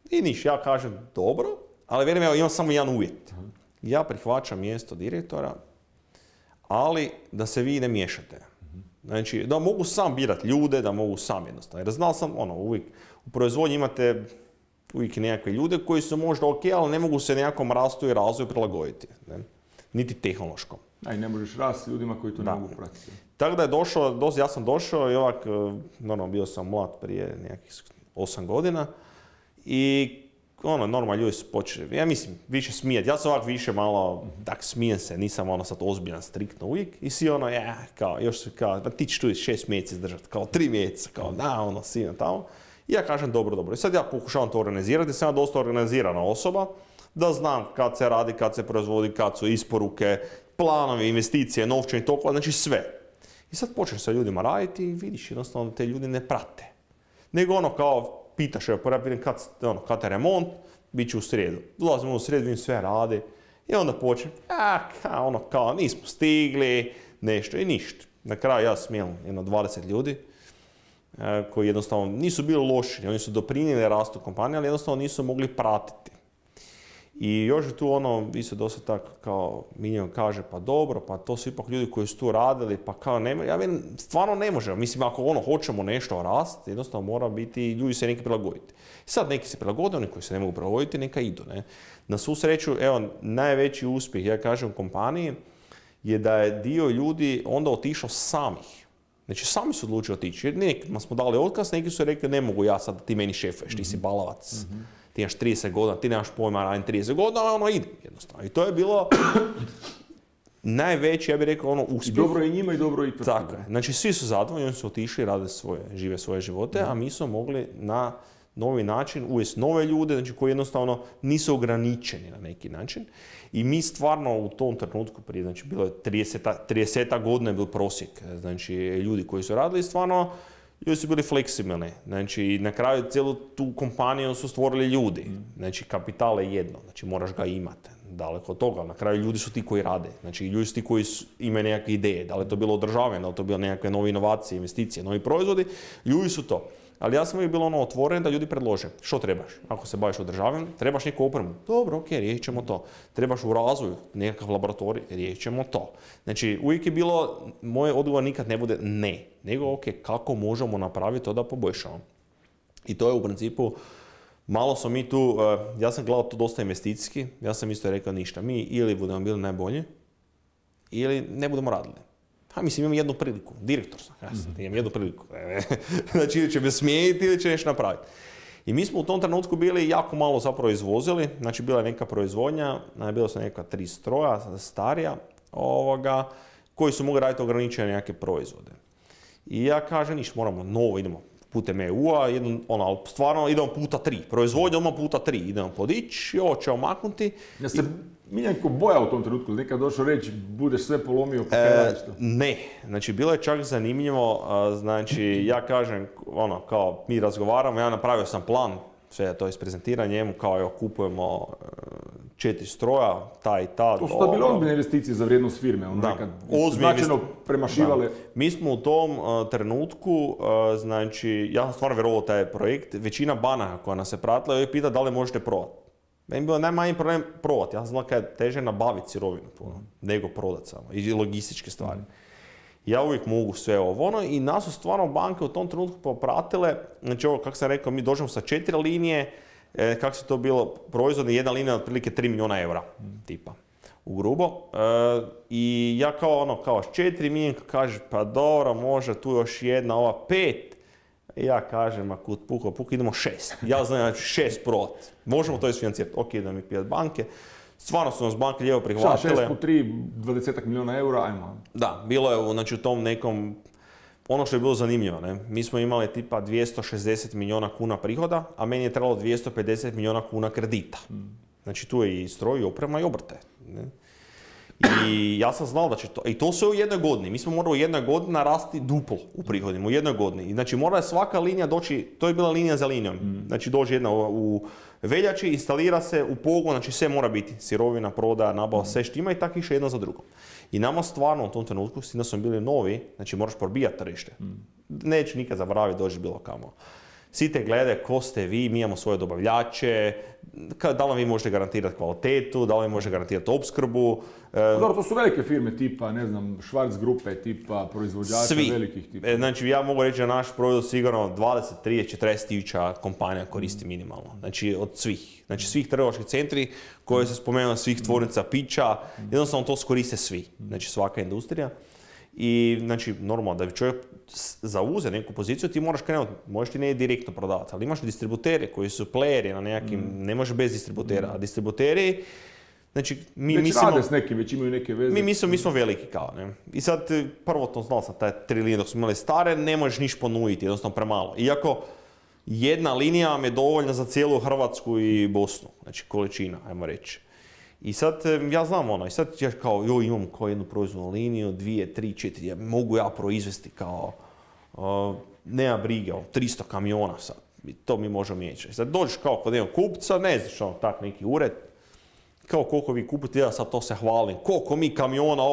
I niš, ja kažem, dobro, ali vjerujem, evo, imam samo jedan uvjet. Ja prihvaćam mjesto direktora, ali da se vi ne miješate. Znači, da mogu sam birati ljude, da mogu sam jednostavno. Jer znao sam, uvijek, u proizvodnji imate uvijek nekakve ljude koji su možda ok, ali ne mogu se nekakvom rastu i razvoju prilagoditi. Ne? Niti tehnološkom. I ne možeš rasti s ljudima koji to ne mogu pratiti. Tako da je došao, ja sam došao i ovak, normalno bio sam mlad prije nekakvih 8 godina i normalno ljudi su počeli, ja mislim, više smijati. Ja sam ovak više malo, tak smijem se, nisam sad ozbiljan, striktno uvijek. I svi pa ti ćeš tu 6 mjeseci izdržati, kao 3 mjeseca, kao da, sina tamo. I ja kažem dobro. I sad ja pokušavam to organizirati, sam ja dosta organizirana osoba, da znam kad se radi, kad se proizvodi, kad su isporuke, planovi, investicije, novčani tokova, znači sve. I sad počneš sa ljudima raditi i vidiš jednostavno te ljudi ne prate. Nego kao pitaš, kad je remont, bit će u srijedu. Dolazimo u srijedu, vidim sve radi i onda počnem, kao nismo stigli, nešto i ništa. Na kraju ja smijelim 20 ljudi koji jednostavno nisu bili loši, oni su doprinijeli rastu kompanije, ali jednostavno nisu mogli pratiti. I još je tu ono, vi se dosta tako kao Miljan kaže, pa dobro, pa to su ipak ljudi koji su tu radili, pa kao nema, ja vidim, stvarno ne možemo. Mislim, ako ono hoćemo nešto rast, jednostavno mora biti, ljudi se neki prilagoditi. Sad neki se prilagode, oni koji se ne mogu prilagoditi, neka idu. Ne? Na svu sreću, evo, najveći uspjeh, ja kažem, u kompaniji, je da je dio ljudi onda otišao samih. Znači, sami su odlučili otići. Jer nekima smo dali otkaz, neki su rekli, ne mogu ja sad, ti meni šefuješ, ti si balavac. Ti imaš 30 godina, ti nemaš pojma, radim 30 godina, ali ono ide jednostavno. I to je bilo najveći, ja bih rekao, ono uspjeh. I dobro i njima i dobro i to. Tako je. Znači, svi su zadovoljni, oni su otišli, žive svoje živote, a mi smo mogli na novi način uvesti nove ljude, znači koji jednostavno nisu ograničeni na neki način. I mi stvarno u tom trenutku, prije, znači bilo je 30 godina je bil prosjek, znači ljudi koji su radili, stvarno ljudi su bili fleksibilni. Znači na kraju cijelu tu kompaniju su stvorili ljudi. Znači kapital je jedno, znači moraš ga imati. Daleko od toga, na kraju ljudi su ti koji rade, znači ljudi su ti koji imaju nekakve ideje, da li je to bilo održavanje, da li je to bilo nekakve nove inovacije, investicije, novi proizvodi, ljudi su to. Ali ja sam uvijek bilo ono otvoren da ljudi predlože što trebaš. Ako se baviš održavanjem, trebaš neku opremu. Dobro, ok, riješit ćemo to. Trebaš u razvoju nekakav laboratorij, riješit ćemo to. Znači uvijek je bilo, moj odgovor nikad ne bude ne, nego ok, kako možemo napraviti to da poboljšamo. I to je u principu, malo smo mi tu, ja sam gledao to dosta investicijski, ja sam isto rekao ništa. Mi ili budemo bili najbolji, ili ne budemo radili. Mislim, imam jednu priliku, direktor sam, imam jednu priliku. Znači, ili će me smijeniti ili će nešto napraviti. I mi smo u tom trenutku bili jako malo zapravo izvozili, znači bila je neka proizvodnja, bila su neka 3 stroja, starija, koji su mogli raditi ograničene nekakve proizvode. I ja kažem, ništa, moramo novo, idemo putem EU-a, stvarno idemo puta 3, proizvodnja odmah puta 3, idemo podići, ovo će omaknuti. Ja se Miljenko boja u tom trenutku, nekad došao reći, budeš sve polomio, pa kaj radiš to? Ne, znači bilo je čak zanimljivo, znači ja kažem, kao mi razgovaramo, ja napravio sam plan, sve to isprezentiram njemu, kao evo kupujemo 4 stroja, ta i ta. To su to bile ozbiljne investicije za vrijednost firme, nekad značajno premašivale. Mi smo u tom trenutku, znači ja sam stvarno vjerovao taj projekt, većina banaka koja nas je pratila je pita da li možete prodati. Meni je bilo najmanji problem prodati. Ja sam znao kada je teže nabaviti sirovinu nego prodati samo. I logističke stvari. Ja uvijek mogu sve ovo i nas su stvarno banke u tom trenutku popratile. Znači ovo, kako sam rekao, mi dođemo sa 4 linije, kako se to bilo, proizvodna jedna linija otprilike 3 milijuna eura, tipa, u grubo. I ja kao s 4 Miljenko kaže, pa dobro, može tu još jedna, ova 5. Ja kažem, ako puko, idemo 6. Ja znam da ću 6 prodati. Možemo to isfinancirati. Ok, da mi pijat banke. Stvarno su nas banke lijevo prihvatile. 6 po 3, 20 milijuna eura, ajmo. Da, bilo je znači, u tom nekom, ono što je bilo zanimljivo, ne? Mi smo imali tipa 260 milijuna kuna prihoda, a meni je trebalo 250 milijuna kuna kredita. Znači tu je i stroj, i oprema, i obrte. Ne? I ja sam znao da će to, i to sve u jednoj godini. Mi smo morali u jednoj godini narasti duplo u prihodima, u jednoj godini. I znači mora je svaka linija doći, to je bila linija za linijom. Znači dođe jedna u veljači, instalira se u pogon, znači sve mora biti. Sirovina, prodaja, nabava, sve štima i tako išlo jedna za drugom. I nama stvarno u tom trenutku, s tim da smo bili novi, znači moraš probijati tržište. Neću nikad zaboraviti doći bilo kamo. Svi te gledaju ko ste vi, mi imamo svoje dobavljače, da li vi možete garantirati kvalitetu, da li vi možete garantirati opskrbu. Dobro, to su velike firme tipa, ne znam, Schwarz grupe tipa, proizvođača velikih tipa. Znači ja mogu reći da naš proizvod sigurno 20, 30, 40 tisuća kompanija koristi minimalno. Znači od svih. Znači svih trgovačkih centri koje se spomenuli, svih tvornica pića, jednostavno to koriste svi. Znači svaka industrija. I znači normalno da bi čovjek zauze neku poziciju ti moraš krenuti, možeš ti ne direktno prodavati, ali imaš distributere koji su playeri na nekakvim, ne može bez distributera, a distributeri, znači mi već mislimo... rade s nekim, već imaju neke veze. Mi smo veliki kao, ne. I sad prvo to znao sam, taj 3 linije dok smo imali stare, ne možeš niš ponuditi, jednostavno premalo. Iako jedna linija vam je dovoljna za cijelu Hrvatsku i Bosnu, znači količina, ajmo reći. I sad ja znam i sad ja kao imam kao jednu proizvodnu liniju, 2, 3, 4, mogu ja proizvesti kao, nema brige, 300 kamiona sad, to mi možemo mijeći. Sad dođeš kao kod jednog kupca, ne znaš tak neki ured, kao koliko vi kupujete, ja sad to se hvalim, koliko mi kamiona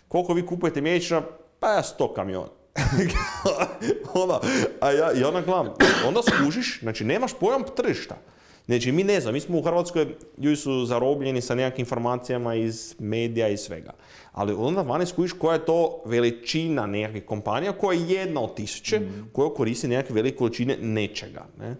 koliko vi kupujete mjesečno, pa ja 100 kamiona. I onda gledam, onda skužiš, znači nemaš pojam tržišta. Znači, mi ne znam, mi smo u Hrvatskoj, ljudi su zarobljeni sa nekakvim informacijama iz medija i svega. Ali onda vani skužiš koja je to veličina nekakvih kompanija, koja je jedna od tisuće, koja koristi nekakve velike količine nečega. Ne?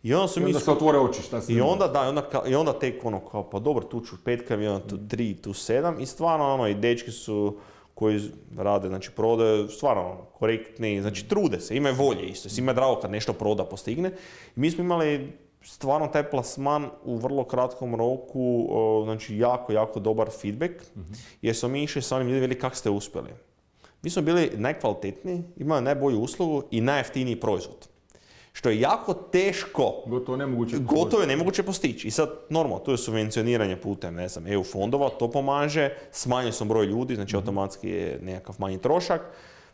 I onda se otvore oči, šta se I onda tek ono kao, pa dobro, tu ću 5 kamiona, tu 3, tu 7. I stvarno, i dečki su koji rade, znači prodaju, stvarno korektni, znači trude se, imaju volje isto, svima je drago kad nešto proda, postigne. I mi smo imali stvarno taj plasman u vrlo kratkom roku, znači jako dobar feedback, jer smo mi išli sa onim ljudima kako ste uspjeli. Mi smo bili najkvalitetniji, imali najbolju uslugu i najjeftiniji proizvod. Što je jako teško, gotovo je nemoguće postići. I sad, normalno, tu je subvencioniranje putem, ne znam, EU fondova, to pomaže, smanjili smo broj ljudi, znači automatski je nekakav manji trošak.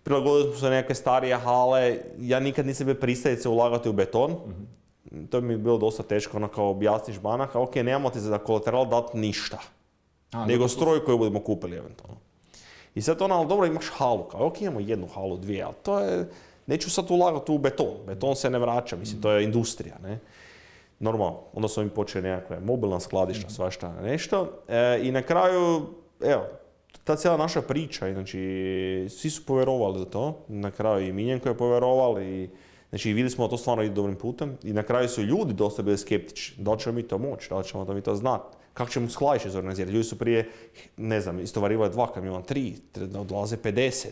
Prilagodili smo se neke starije hale, ja nikad nisam bio pristajice ulagati u beton. To mi je bilo dosta teško, ono kao objasniš banaka, ok, nemamo ti za kolateral dati ništa, nego stroj koji budemo kupili eventualno. I sad ono, ali dobro, imaš halu, kao ok, imamo jednu halu, dvije, ali to je... Neću sad ulagati u beton. Beton se ne vraća, mislim, to je industrija, ne? Normalno, onda smo im počeli nekakve mobilna skladišta, svašta nešto. I na kraju, evo, ta cijela naša priča, znači, svi su povjerovali za to. Na kraju i Miljenko je povjerovao i znači, vidjeli smo da to stvarno ide dobrim putem. I na kraju su ljudi dosta bili skeptični. Da li ćemo mi to moći, da li ćemo mi to znati. Kako ćemo skladište izorganizirati? Ljudi su prije, ne znam, istovarivali 2 kamiona, 3, odlaze 50.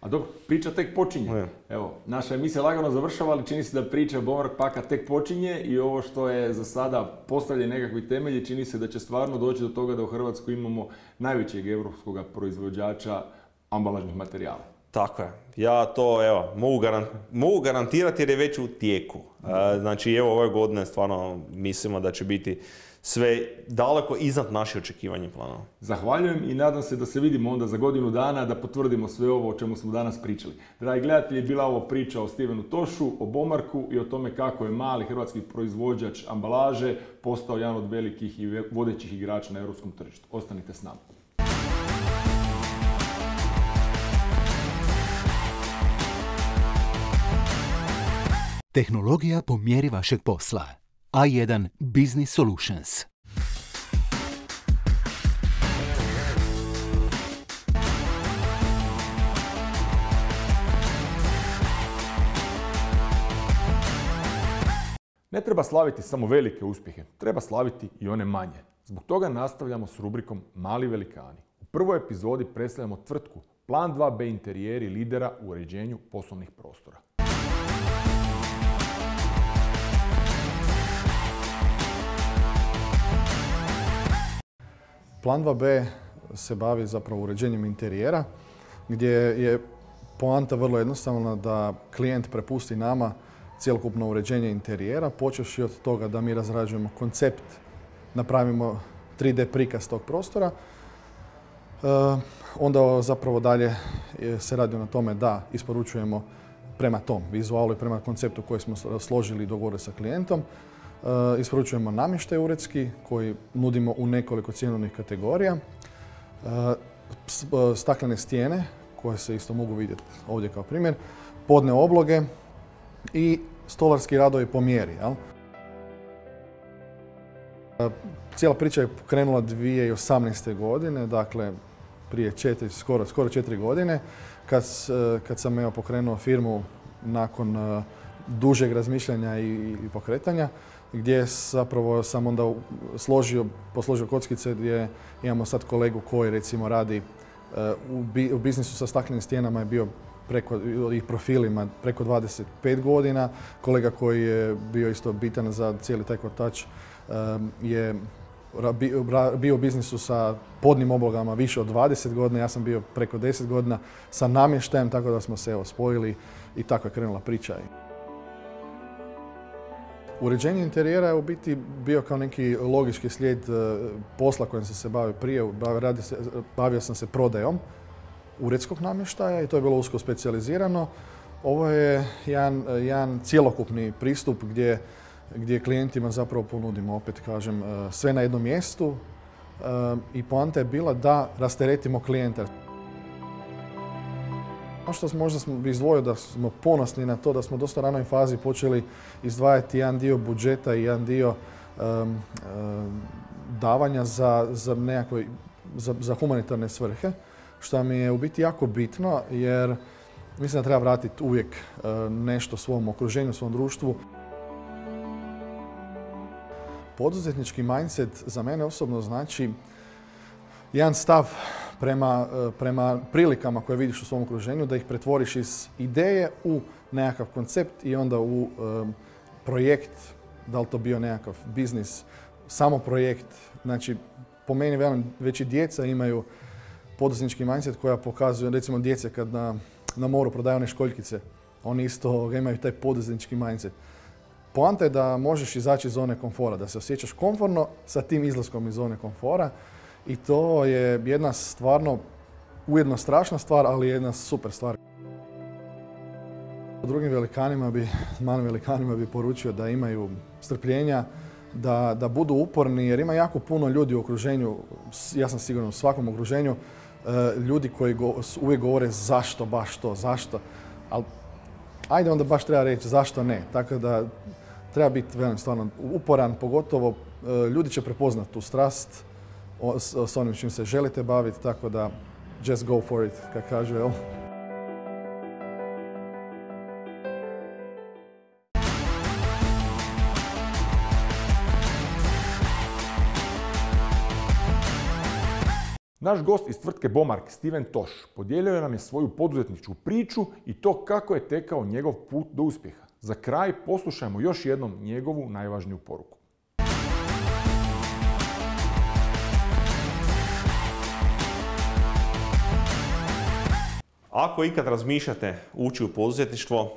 A dok priča tek počinje. Evo, naša emisija lagano završava, ali čini se da priča Bomark Paka tek počinje i ovo što je za sada postavljen nekakvi temelji, čini se da će stvarno doći do toga da u Hrvatskoj imamo najvećeg europskog proizvođača ambalažnih materijala. Tako je. Ja to, evo, mogu garantirati jer je već u tijeku. Znači, evo, ove godine stvarno mislimo da će biti sve daleko iznad naših očekivanja i planova. Zahvaljujem i nadam se da se vidimo onda za godinu dana da potvrdimo sve ovo o čemu smo danas pričali. Dragi gledatelji, bila ovo priča o Stevenu Tošu, o Bomarku i o tome kako je mali hrvatski proizvođač ambalaže postao jedan od velikih i vodećih igrača na europskom tržištu. Ostanite s nama. Tehnologija po mjeri vašeg posla. A1 Business Solutions. Ne treba slaviti samo velike uspjehe, treba slaviti i one manje. Zbog toga nastavljamo s rubrikom Mali velikani. U prvoj epizodi predstavljamo tvrtku Plan 2B interijeri lidera u uređenju poslovnih prostora. Plan 2B se bavi zapravo uređenjem interijera, gdje je poanta vrlo jednostavna da klijent prepusti nama cjelokupno uređenje interijera, počevši od toga da mi razrađujemo koncept, napravimo 3D prikaz tog prostora. Onda zapravo dalje se radi na tome da isporučujemo prema tom vizualu i prema konceptu koji smo složili i dogovorili sa klijentom. Isporučujemo namještaj uredski koji nudimo u nekoliko cjenovnih kategorija. Staklene stijene koje se isto mogu vidjeti ovdje kao primjer. Podne obloge i stolarski radovi po mjeri. Jel? Cijela priča je krenula 2018. godine, dakle prije skoro 4 godine, kad sam pokrenuo firmu nakon dužeg razmišljanja i pokretanja, gdje zapravo sam onda posložio kockice gdje imamo sad kolegu koji recimo radi u biznisu sa staklenim stijenama je bio i profilima preko 25 godina. Kolega koji je bio isto bitan za cijeli taj kotač je bio u biznisu sa podnim oblogama više od 20 godina. Ja sam bio preko 10 godina sa namještajem, tako da smo se spojili i tako je krenula priča. Uređenje interijera je u biti bio kao neki logički slijed posla kojim sam se bavio prije. Bavio sam se prodajom uredskog namještaja i to je bilo usko specijalizirano. Ovo je jedan cjelokupni pristup gdje klijentima zapravo ponudimo, opet kažem, sve na jednom mjestu i poanta je bila da rasteretimo klijenta. Ono što možda smo izdvojili da smo ponosni na to da smo dosta ranoj fazi počeli izdvajati jedan dio budžeta i jedan dio davanja za nekakve, za humanitarne svrhe, što mi je u biti jako bitno jer mislim da treba vratiti uvijek nešto svom okruženju, svom društvu. Poduzetnički mindset za mene osobno znači jedan stav prema prilikama koje vidiš u svom okruženju, da ih pretvoriš iz ideje u nekakav koncept i onda u projekt, da li to bio nekakav biznis, samo projekt. Znači, po meni već i djeca imaju poduzetnički mindset koja pokazuje, recimo djece kad na moru prodaju one školjkice, oni isto imaju taj poduzetnički mindset. Poanta je da možeš izaći iz zone komfora, da se osjećaš komforno sa tim izlaskom iz zone komfora i to je jedna stvarno, ujedno strašna stvar, ali jedna super stvar. Drugim malim velikanima bi poručio da imaju strpljenja, da budu uporni jer ima jako puno ljudi u okruženju, ja sam siguran u svakom okruženju, ljudi koji uvijek govore zašto baš to, zašto, ali ajde onda baš treba reći zašto ne, tako da treba biti stvarno uporan, pogotovo ljudi će prepoznati tu strast s onim čim se želite baviti, tako da just go for it, kako kažu, jel? Naš gost iz tvrtke Bomark, Steven Toš, podijelio nam je svoju poduzetničku priču i to kako je tekao njegov put do uspjeha. Za kraj poslušajmo još jednom njegovu najvažniju poruku. Ako ikad razmišljate ući u poduzetništvo,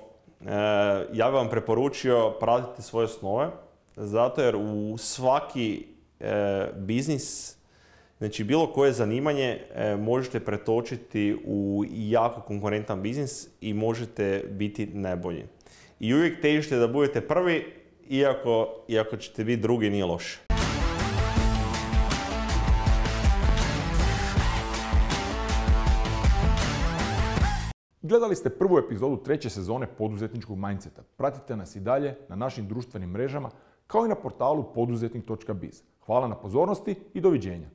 ja bih vam preporučio pratiti svoje snove, zato jer u svaki biznis, znači bilo koje zanimanje možete pretočiti u jako konkurentan biznis i možete biti najbolji. I uvijek težite da budete prvi, iako ćete biti drugi, nije loše. Gledali ste prvu epizodu 3. sezone poduzetničkog mindseta. Pratite nas i dalje na našim društvenim mrežama kao i na portalu poduzetnik.biz. Hvala na pozornosti i doviđenja.